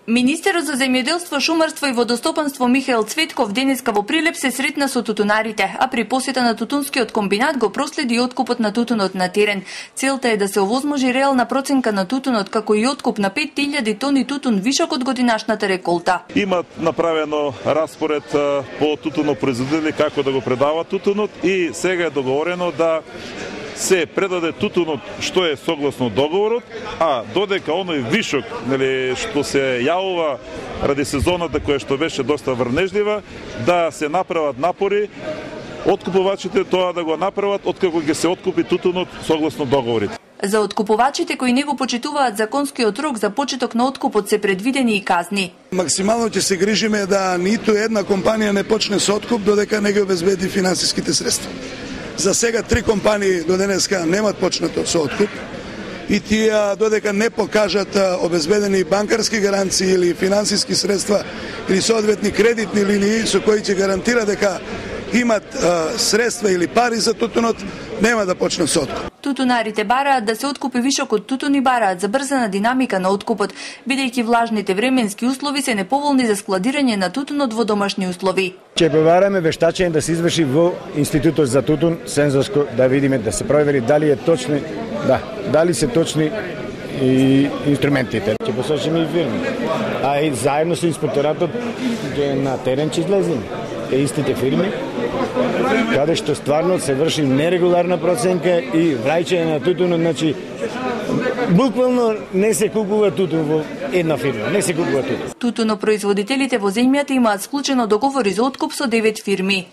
Министерот за земјоделство, шумарство и водостопанство Михаел Цветков денеска во Прилеп се сретна со тутунарите, а при посета на тутунскиот комбинат го проследи откупот на тутунот на терен. Целта е да се овозможи реална проценка на тутунот, како и откуп на 5000 тони тутун вишок од годинашната реколта. Има направено распоред по тутунопроизводители како да го предават тутунот и сега е договорено да се предаде тутунот што е согласно договорот, а додека оној вишок, што се јавува ради сезоната која што беше доста врнежлива, да се направат напори откупувачите тоа да го направат откако ќе се откупи тутунот согласно договорите. За откупувачите кои не го почитуваат законскиот рок за почеток на откупот се предвидени и казни. Максимално ќе се грижиме да ниту една компанија не почне со откуп додека не ги обезбеди финансиските средства. За сега 3 компании до денеска немат почнато со откуп и тие додека не покажат обезбедени банкарски гаранции или финансиски средства или соодветни кредитни линии со кои ќе гарантира дека имат средства или пари за тутунот, нема да почнат со откуп. Тутунарите бараат да се откупи вишок од тутун и бараат забрзана динамика на откупот, бидејќи влажните временски услови се неповолни за складирање на тутунот во домашни услови. Ќе побараме вештачење да се изврши во Институтот за тутун сензорско, да видиме, да се провери дали е точни, дали се точни и инструментите. Ќе посочиме и фирми. А и заедно со инспекторатот на терен ќе излеземе. Истите фирми, каде што стварно се врши нерегуларна проценка и враќање на тутунот, значи буквално не се купува тутун во една фирма, не се купува тутун. Тутунопроизводителите во земјата имаат склучено договори за откуп со 9 фирми.